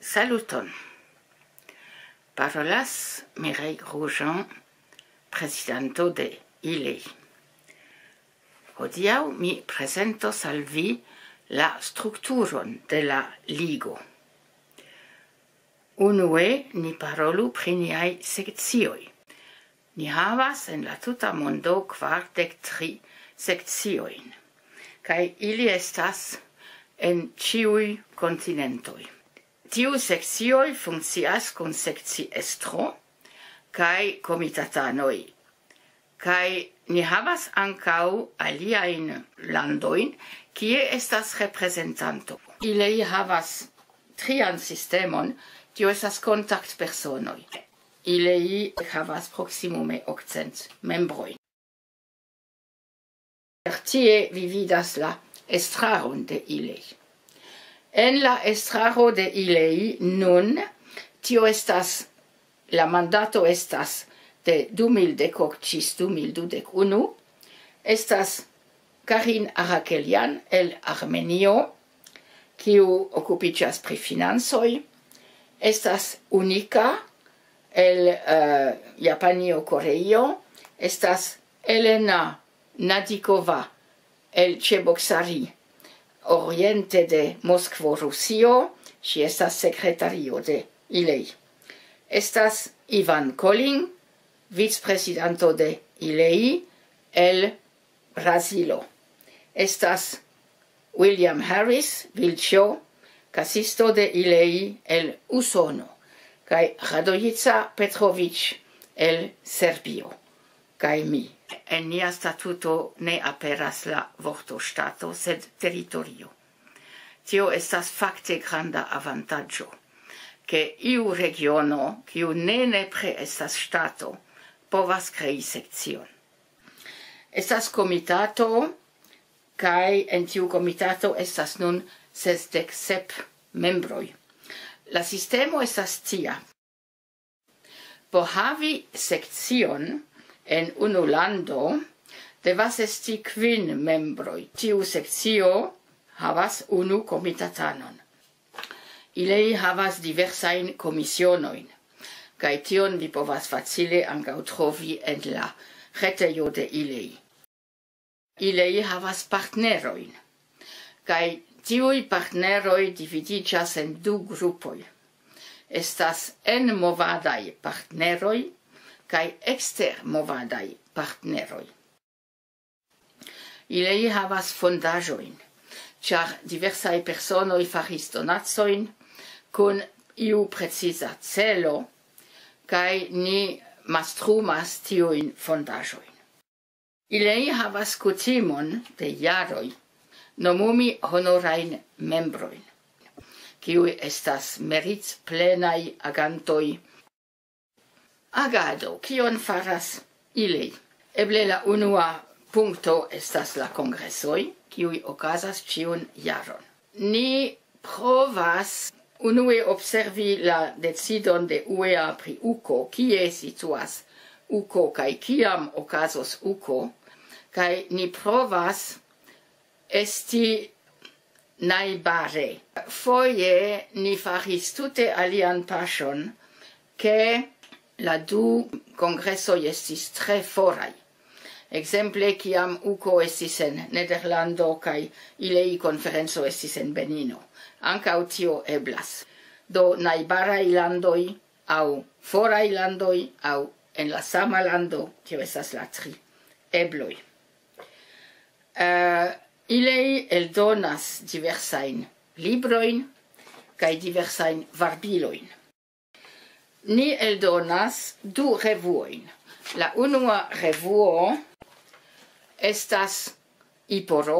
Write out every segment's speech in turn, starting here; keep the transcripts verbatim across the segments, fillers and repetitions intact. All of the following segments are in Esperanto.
Saluton. Parolas Mireille Grosjean, prezidanto de ILEI. Hodiaŭ mi prezentos al vi la strukturon de la ligo. Unue ni parolu pri niaj sekcioj. Ni havas en la tuta mondo kvardek tri sekciojn, kaj ili estas en ĉiuj kontinentoj. Tiu sekcioj funkcias kun sekciestro kaj komitatanoj. Kaj ni havas ankaŭ aliajn landojn, kie estas reprezentanto. ILEI havas trian sistemon, tio estas kontaktpersonoj. ILEI havas proksimume okcent membrojn. Tie vi vidas la estraron de ILEI. En la estraro de ILEI nun, tio estas, la mandato estas de du mil dek ok ĝis du mil dudek unu, estas Karin Arakelian el Armenio, kiu okupiĝas pri financoj, estas Unika el, eh, Japanio, Koreio, estas Elena Nadikova el Ĉeboksari, oriente de Moskvo, Rusio, ŝi estas sekretario de ILEI. Estas Ivan Kolin, vicprezidanto de ILEI el Brazilo. Estas William Harris, Vilĉo, kasisto de ILEI el Usono, kaj Radojica Petrovic el Serbio, kaj mi. En nia statuto ne aperas la vorto ŝtato, sed teritorio. Tio estas fakte granda avantaĝo, ke iu regiono, kiu ne nepre estas ŝtato, povas krei sekcion. Estas komitato, kaj en tiu komitato estas nun sesdek sep membroj. La sistemo estas tia. Por havi sekcion en unu lando, devas esti kvin membroj. Tiu sekcio havas unu komitatanon. ILEI havas diversajn komisionojn, kaj tion vi povas facile ankaŭ trovi en la retejo de ILEI. ILEI havas partnerojn, kaj tiuj partneroj dividiĝas en du grupoj. Estas enmovadaj partneroj kaj ekstermovadaj partneroj. ILEI havas fondaĵojn, ĉar diversaj personoj faris donacojn kun iu preciza celo, kaj ni mastrumas tiujn fondaĵojn. ILEI havas kutimon de jaroj nomumi honorajn membrojn, kiuj estas meritplenaj agantoj. Agado, kion faras ILEI? Eble la unua punkto estas la kongresoj, kiuj okazas ĉiun jaron. Ni provas unue observi la decidon de uea pri uko, kie situas uko kaj kiam okazos uko, kaj ni provas esti najbare. Foje ni faris tute alian paŝon, ke la du kongresoj estis tre foraj. Ekzemple, kiam uko estis en Nederlando kaj ILEI konferenco estis en Benino. Ankaŭ tio eblas. Do, najbaraj landoj aŭ foraj landoj aŭ en la sama lando, tio estas la tri ebloj. Eh, ILEI eldonas diversajn librojn kaj diversajn varbilojn. Ni eldonas du revuojn. La unua revuo estas IPORO,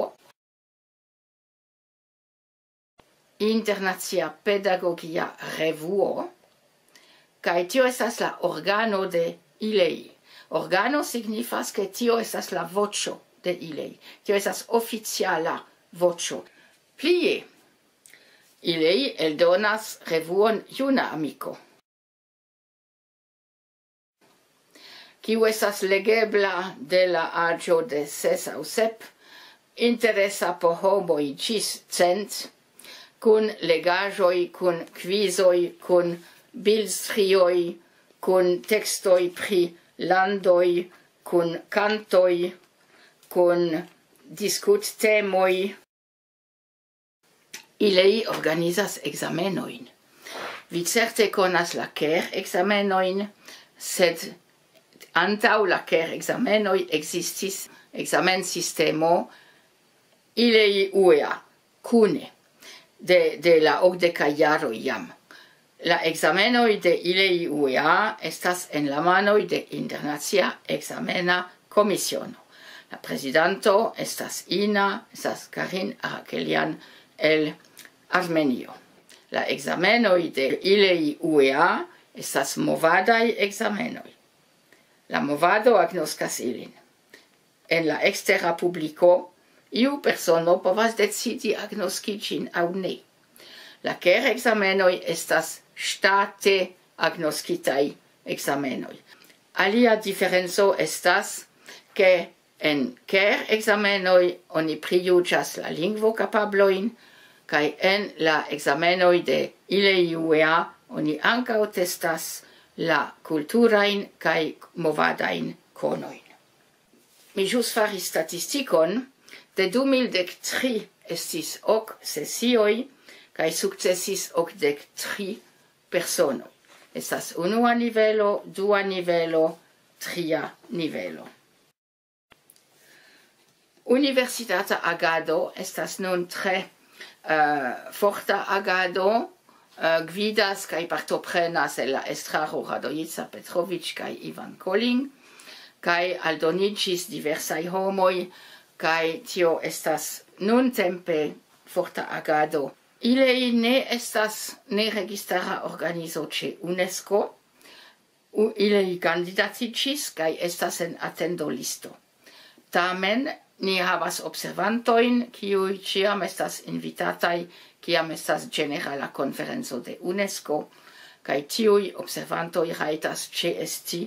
Internacia Pedagogia Revuo, kaj tio estas la organo de ILEI. Organo signifas, ke tio estas la voĉo de ILEI. Tio estas oficiala voĉo. Plie, ILEI eldonas revuon Juna Amiko, kiu estas legebla de la aĝo de ses aŭ sep, interesa por homoj ĝis cent, kun legaĵoj, kun kvizoj, kun bildstrioj, kun tekstoj pri landoj, kun kantoj, kun diskuttemoj. Ili organizas ekzamenojn. Vi certe konas la KER-ekzamenojn, sed antaŭ la KER-ekzamenoj ekzistis ekzamensistemo ILEI-UEA kune de, de la okdekaj jaroj jam. La ekzamenoj de ILEI-UEA estas en la manoj de Internacia Ekzamena Komisiono. La prezidanto estas ina, estas Karin Arakelian el Armenio. La ekzamenoj de ILEI-UEA estas movadaj ekzamenoj. La movado agnoskas ilin. En la ekstera publiko iu persono povas decidi agnoski ĝin aŭ ne. La KER-ekzamenoj estas ŝtate agnoskitaj ekzamenoj. Alia diferenco estas, ke en KER-ekzamenoj oni prijuĝas la lingvokapablojn, kaj en la ekzamenoj de ILEI-UEA oni ankaŭ testas la kulturajn kaj movadajn konojn. Mi ĵus faris statistikon, de du mil dek tri estis ok sesioj kaj sukcesis okdek tri personoj. Estas unua nivelo, dua nivelo, tria nivelo. Universitata agado estas nun tre, eh, forta agado, eh, gvidas kaj partoprenas en la estraro Radojica Petrovic kaj Ivan Koling, kaj aldoniĝis diversaj homoj, kaj tio estas nuntempe forta agado. Ili ne estas neregistara organizo ĉe UNESCO, u-, ili kandidatiĝis kaj estas en atendolisto. Tamen ni havas observantojn, kiuj ĉiam estas invitataj, kiam estas ĝenerala konferenco de UNESCO, kaj tiuj observantoj rajtas ĉeesti,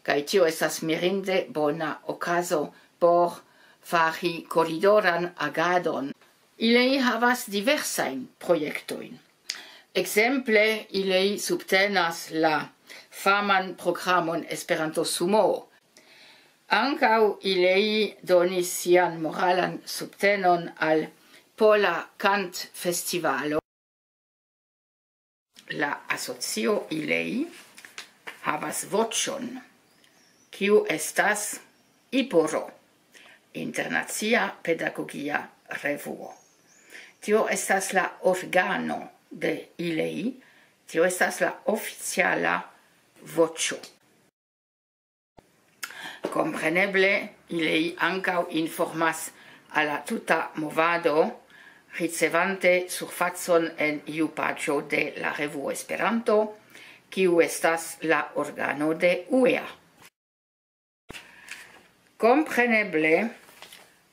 kaj tio estas mirinde bona okazo por fari koridoran agadon. Ili havas diversajn projektojn. Ekzemple, ili subtenas la faman programon Esperanto Sumoo. Ankaŭ ili donis sian moralan subtenon al Pola Kantfestivalo. La asocio ILEI havas voĉon, kiu estas IPORO, Internacia Pedagogia Revuo. Tio estas la organo de ILEI, tio estas la oficiala voĉo. Kompreneble, ILEI ankaŭ informas al la tuta movado, ricevante surfacon en iu paĝo de la revuo Esperanto, kiu estas la organo de UEA. Kompreneble,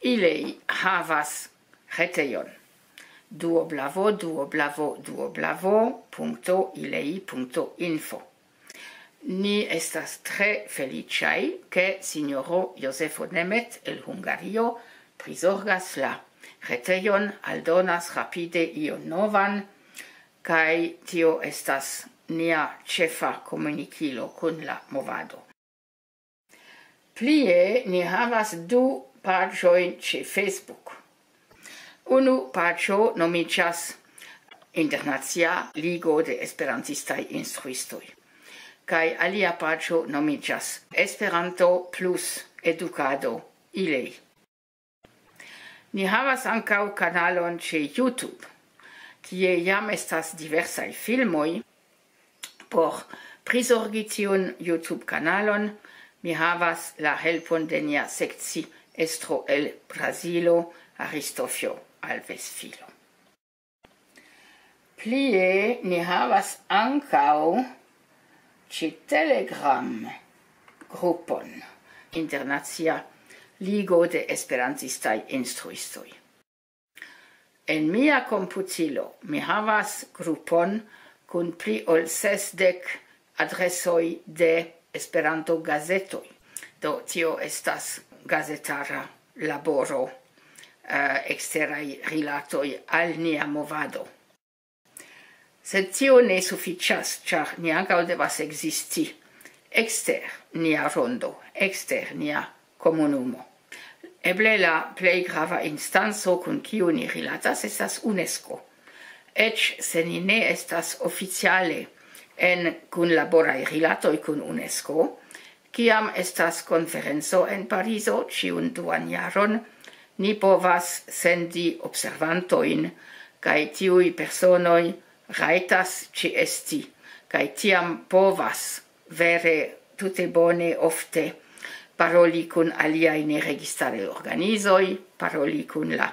ILEI havas retejon: www.ilei.info. Ni estas tre feliĉaj, ke sinjoro Josefo Nemet el Hungario prizorgas la retejon, aldonas rapide ion novan, kaj tio estas nia ĉefa komunikilo kun la movado. Plie, ni havas du paĝojn ĉe Facebook. Unu paĝo nomiĝas Internacia Ligo de Esperantistaj Instruistoj, kaj alia paĝo nomiĝas Esperanto plus Edukado ILEI. Ni havas ankaŭ kanalon ĉe YouTube, kie jam estas diversaj filmoj. Por prizorgi tiun YouTube-kanalon, mi havas la helpon de nia sekci estro el Brazilo, Aristofio Alves Filo. Plie ni havas ankaŭ ĉe Telegram grupon Internacia Ligo de Esperantistaj Instruistoj. En mia komputilo mi havas grupon kun pli ol sesdek adresoj de Esperanto-gazetoj. Do tio estas gazetara laboro, eh, eksteraj rilatoj al nia movado. Sed tio ne sufiĉas, ĉar ni ankaŭ devas ekzisti ekster nia rondo, ekster nia komunumo. Eble la plej grava instanco, kun kiu ni rilatas, estas UNESCO. Eĉ se ni ne estas oficiale en kunlaboraj rilatoj kun UNESCO, kiam estas konferenco en Parizo ĉiun duan jaron, ni povas sendi observantojn, kaj tiuj personoj rajtas ĉeesti, kaj tiam povas vere tute bone ofte paroli kun aliaj neregistaraj organizoj, paroli kun la,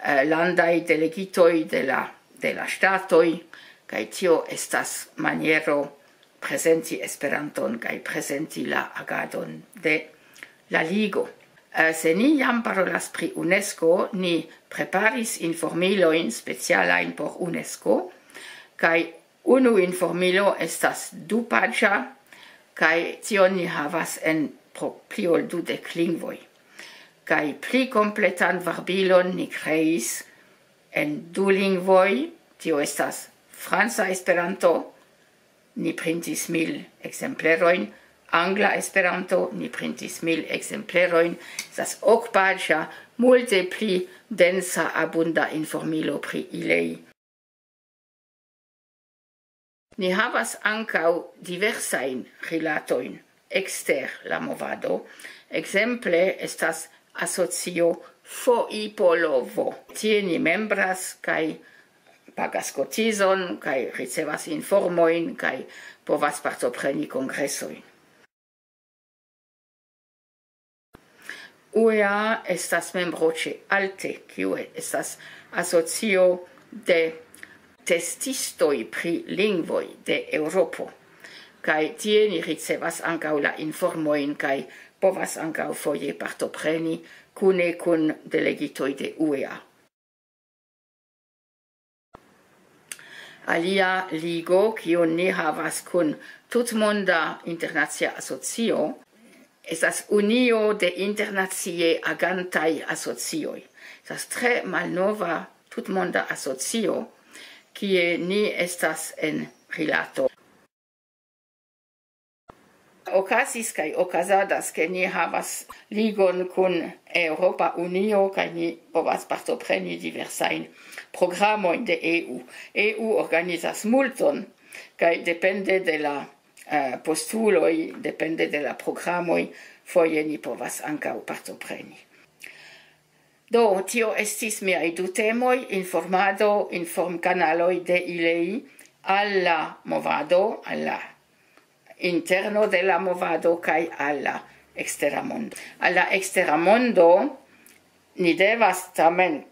eh, landaj delegitoj de la, de la ŝtatoj, kaj tio estas maniero prezenti Esperanton kaj prezenti la agadon de la Ligo. Eh, se ni jam parolas pri UNESCO, ni preparis informilojn specialajn por UNESCO, kaj unu informilo estas dupaĝa, kaj tion ni havas en pro-, pli ol dudek lingvoj. Kaj pli kompletan varbilon ni kreis en du lingvoj, tio estas franca Esperanto, ni printis mil ekzemplerojn, angla Esperanto, ni printis mil ekzemplerojn, estas okpaĝa, multe pli densa, abunda informilo pri ilei. Ni havas ankaŭ diversajn rilatojn ekster la movado. Ekzemple estas asocio Foipolovo. Tie ni membras kaj pagas kotizon, kaj ricevas informojn, kaj povas partopreni kongresojn. U E A estas membro ĉe alte, kiu estas asocio de testistoj pri lingvoj de Eŭropo. Kaj tie ni ricevas ankaŭ la informojn kaj povas ankaŭ foje partopreni kune kun delegitoj de U E A. Alia ligo, kiun ni havas kun tutmonda internacia asocio, estas unio de internacie agantaj asocioj. Estas tre malnova tutmonda asocio, kie ni estas en rilato. Okazis kaj okazadas, ke ni havas ligon kun Eŭropa Unio, kaj ni povas partopreni diversajn programojn de E U. E U organizas multon, kaj depende de la, eh, postuloj, depende de la programoj, foje ni povas ankaŭ partopreni. Do, tio estis miaj du temoj: informado, informkanaloj de ilei al la movado, al la interno de la movado kaj al la ekstera mondo. Al la ekstera mondo ni devas tamen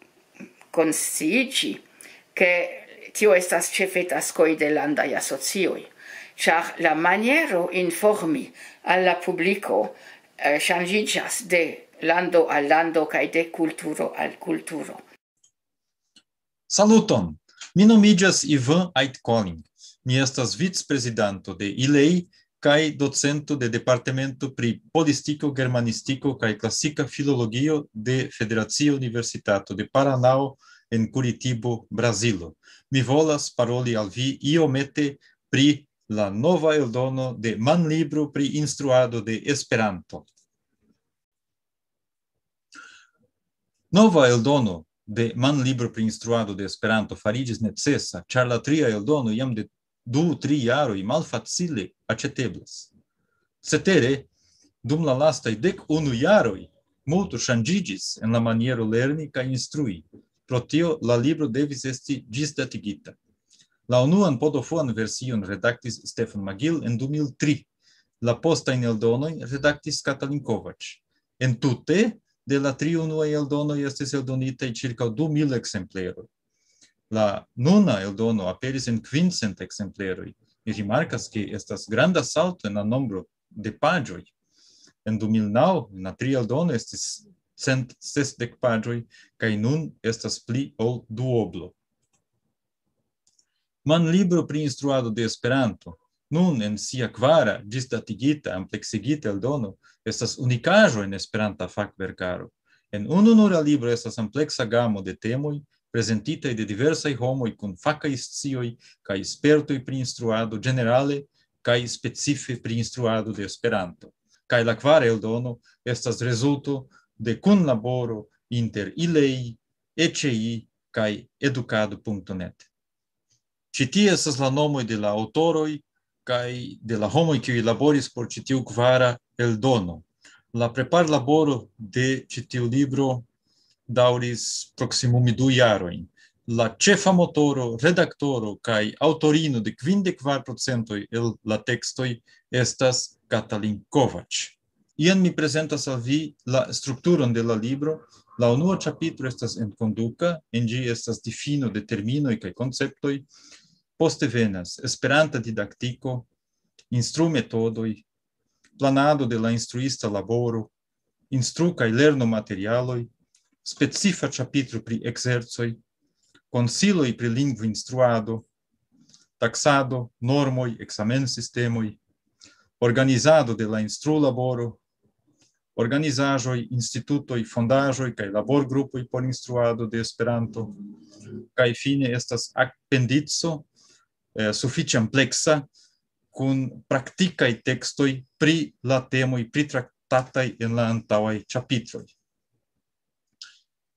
konsciiĝi, ke tio estas ĉefe taskoj de landaj asocioj, ĉar la maniero informi al la publiko, eh, ŝanĝiĝas de lando al lando kaj de kulturo al kulturo. Saluton! Mi nomiĝas Ivan Aitkoling. Mi estas vicprezidanto de ilei kaj docento de Departemento pri Politiko, Germanistiko kaj Klasika Filologio de Federacia Universitato de Paranao en Curitibo, Brazilo. Mi volas paroli al vi iomete pri la nova eldono de manlibro pri instruado de Esperanto. Nova eldono de manlibro pri instruado de Esperanto fariĝis necesa, ĉar la tria eldono jam de du, tri jaroj malfacile aĉeteblas. Cetere, dum la lastaj dek unu jaroj multo ŝanĝiĝis en la maniero lerni kaj instrui. Pro tio la libro devis esti ĝisdatigita. La unuan podofuan version redaktis Stefan Magil en du mil tri. La postajn eldonojn redaktis Katalin Kovacs. En tute, de la tri unuaj eldonoj estis eldonitaj ĉirkaŭ du mil ekzempleroj. La nuna eldono aperis en kvin cent ekzempleroj. Mi rimarkas, ke estas granda salto en la nombro de paĝoj. En du mil naŭ, en la tria eldono, estis cent sesdek paĝoj, kaj nun estas pli ol duoblo. Manlibro pri instruado de Esperanto, nun en sia kvara, ĝisdatigita, ampleksigita eldono, estas unikaĵo en Esperanta fakverkaro. En unu nura libro estas ampleksa gamo de temoj, prezentitaj de diversaj homoj kun fakaj scioj kaj spertoj pri instruado ĝenerale kaj specife pri instruado de Esperanto. Kaj la kvara eldono estas rezulto de kunlaboro inter ILEI, ECI kaj edukado.net. Ĉi tie estas la nomoj de la aŭtoroj kaj de la homoj, kiuj laboris por ĉi tiu kvara eldono. La preparlaboro de ĉi tiu libro daŭris proksimume du jarojn. La ĉefa motoro, redaktoro kaj aŭtorino de kvindek kvar procentoj el la tekstoj estas Katalin Kovacs. Jen mi prezentas al vi la strukturon de la libro. La unua ĉapitro estas enkonduka, en ĝi estas difino de terminoj kaj konceptoj. Poste venas Esperanta didaktiko, instrumetodoj, planado de la instruista laboro, instru- kaj lernomaterialoj, specifa ĉapitro pri ekzercoj, konsiloj pri lingvoinstruado, taksado, normoj, ekzamensistemoj, organizado de la instrulaboro, organizaĵoj, institutoj, fondaĵoj kaj laborgrupoj por instruado de Esperanto, kaj fine estas apendico, eh, sufiĉe ampleksa, kun praktikaj tekstoj pri la temoj pritraktataj en la antaŭaj ĉapitroj.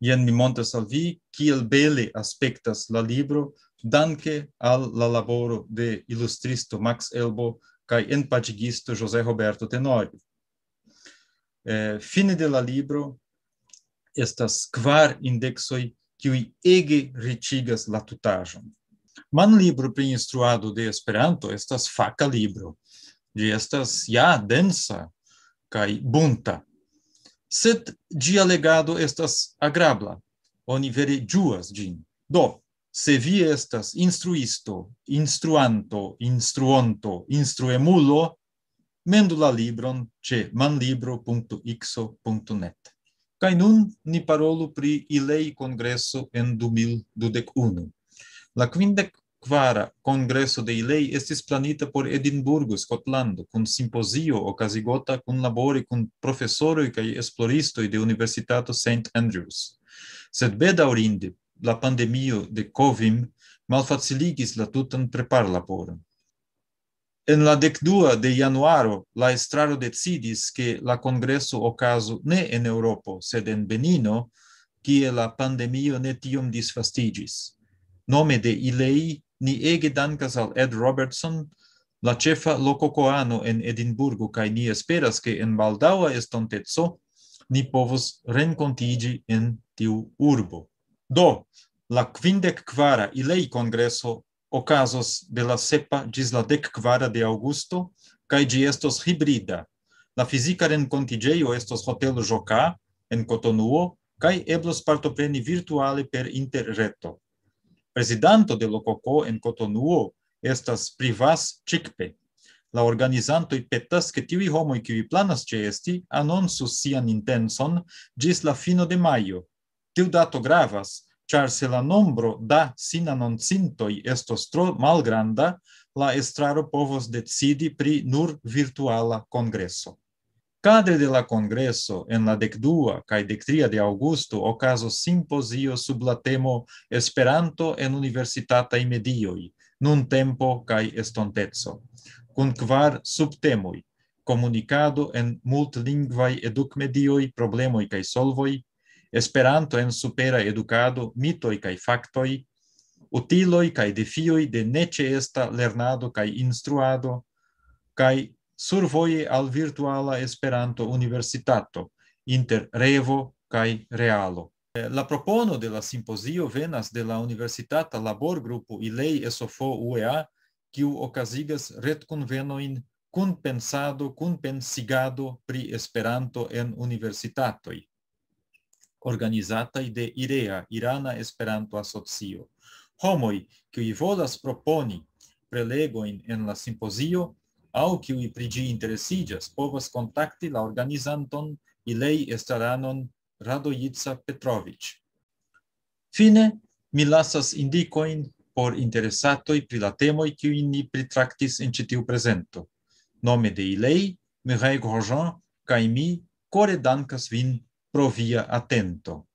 Jen mi montras al vi, kiel bele aspektas la libro, danke al la laboro de ilustristo Max Elbo kaj enpaĝigisto José Roberto Tenorio. Eh, fine de la libro estas kvar indeksoj, kiuj ege riĉigas la tutaĵon. Manlibro pri instruado de Esperanto estas faka libro. Ĝi estas ja densa kaj bunta. Sed ĝia legado estas agrabla. Oni vere ĝuas ĝin. Do, se vi estas instruisto, instruanto, instruonto, instruemulo, mendu la libron ĉe manlibro.ixo.net. Kaj nun ni parolu pri ILEI kongreso en du mil dudek unu. La kvindek kvara kongreso de ILEI estis planita por Edinburgo, Skotlando, kun simpozio okazigota kunlabore kun profesoroj kaj esploristoj de Universitato Saint Andrews. Sed bedaŭrinde, la pandemio de COVID malfaciligis la tutan preparlaboron. En la dekdua de januaro, la estraro decidis, ke la kongreso okazu ne en Eŭropo, sed en Benino, kie la pandemio ne tiom disvastiĝis. Nome de ILEI, ni ege dankas al Ed Robertson, la ĉefa lokokoano en Edinburgo, kaj ni esperas, ke en baldaŭa estonteco ni povos renkontiĝi en tiu urbo. Do, la kvindek kvara ILEI kongreso okazos de la sepa ĝis la dek kvara de aŭgusto, kaj ĝi estos hibrida. La fizika renkontiĝejo estos hotelo Ĵoka en Kotonuo, kaj eblos partopreni virtuale per interreto. Prezidanto de Lokoko en Kotonuo estas Privas Čikpe. La organizantoj petas, ke tiuj homoj, kiuj planas ĉeesti, anoncu sian intencon ĝis la fino de majo. Tiu dato gravas, ĉar se la nombro da sinanoncintoj estos tro malgranda, la estraro povos decidi pri nur virtuala kongreso. Kadre de la kongreso en la dekdua kaj dektria de aŭgusto okazos simpozio sub la temo Esperanto en universitataj medioj, nuntempo kaj estonteco, kun kvar subtemoj: komunikado en multlingvaj edukmedioj, problemoj kaj solvoj, Esperanto en supera edukado, mitoj kaj faktoj, utiloj kaj defioj de neĉeesta lernado kaj instruado, kaj survoje al virtuala Esperanto-universitato inter revo kaj realo. La propono de la simpozio venas de la universitata laborgrupo ILEI S O F O U E A, kiu okazigas retkunvenojn kun pensado, kun pensigado pri Esperanto en universitatoj, organizataj de IREA, Irana Esperanto-Asocio. Homoj, kiuj volas proponi prelegojn en la simpozio aŭ kiuj pri ĝi interesiĝas, povas kontakti la organizanton ILEI estraranon Radojica Petrovic. Fine, mi lasas indikojn por interesatoj pri la temoj, kiujn ni pritraktis en ĉi tiu prezento. Nome de ILEI, Mireille Grosjean kaj mi kore dankas vin pro via atento.